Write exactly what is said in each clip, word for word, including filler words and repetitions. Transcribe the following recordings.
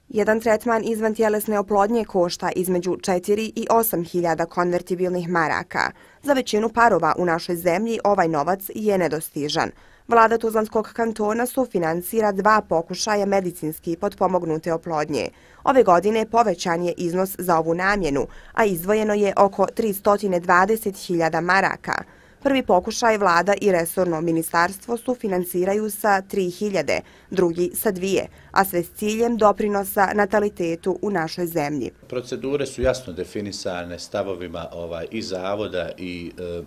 Jedan tretman izvantjelesne oplodnje košta između četiri i osam hiljada konvertibilnih maraka. Za većinu parova u našoj zemlji ovaj novac je nedostižan. Vlada Tuzlanskog kantona sufinansira dva pokušaja medicinski potpomognute oplodnje. Ove godine povećan je iznos za ovu namjenu, a izdvojeno je oko tristo dvadeset hiljada maraka. Prvi pokušaj vlada i resorno ministarstvo sufinansiraju sa tri hiljade, drugi sa dvije, a sve s ciljem doprinosa natalitetu u našoj zemlji. Procedure su jasno definisane stavovima ovaj, i zavoda i e,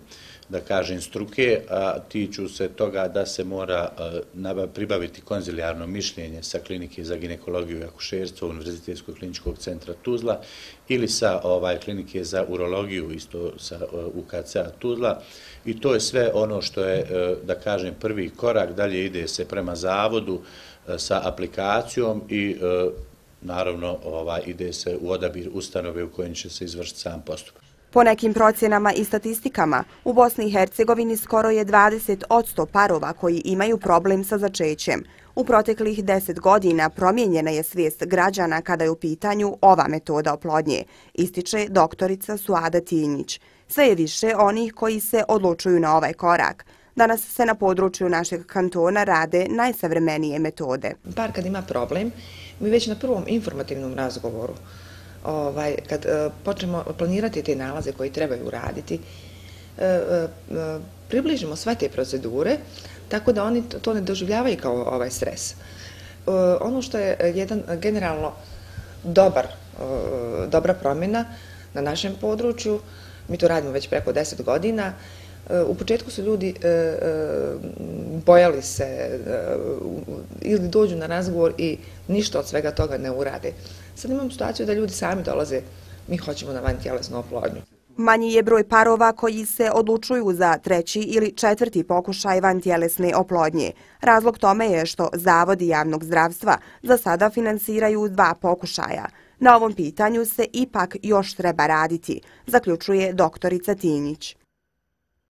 da kažem struke, a tiču se toga da se mora e, pribaviti konzilijarno mišljenje sa klinike za ginekologiju i akušerstvo Univerzitetskog kliničkog centra Tuzla ili sa ovaj, klinike za urologiju isto sa U K C-a Tuzla. I to je sve ono što je, da kažem, prvi korak. Dalje ide se prema zavodu sa aplikacijom i naravno ovaj, ide se u odabir ustanove u kojem će se izvršiti sam postupak. Po nekim procjenama i statistikama, u Bosni i Hercegovini skoro je dvadeset posto parova koji imaju problem sa začećem. U proteklih deset godina promijenjena je svijest građana kada je u pitanju ova metoda oplodnje, ističe doktorica Suada Tinjić. Sve je više onih koji se odlučuju na ovaj korak. Danas se na području našeg kantona rade najsavremenije metode. Par kad ima problem, mi već na prvom informativnom razgovoru, ovaj, kad e, počnemo planirati te nalaze koji trebaju raditi, e, e, približimo sve te procedure, tako da oni to ne doživljavaju kao ovaj stres. E, ono što je jedan generalno dobar, e, dobra promjena na našem području, mi to radimo već preko deset godina. U početku su ljudi bojali se ili dođu na razgovor i ništa od svega toga ne urade. Sad imamo situaciju da ljudi sami dolaze, mi hoćemo na vantjelesnu oplodnju. Manji je broj parova koji se odlučuju za treći ili četvrti pokušaj vantjelesne oplodnje. Razlog tome je što zavodi javnog zdravstva za sada finansiraju dva pokušaja. Na ovom pitanju se ipak još treba raditi, zaključuje doktorica Tinjić.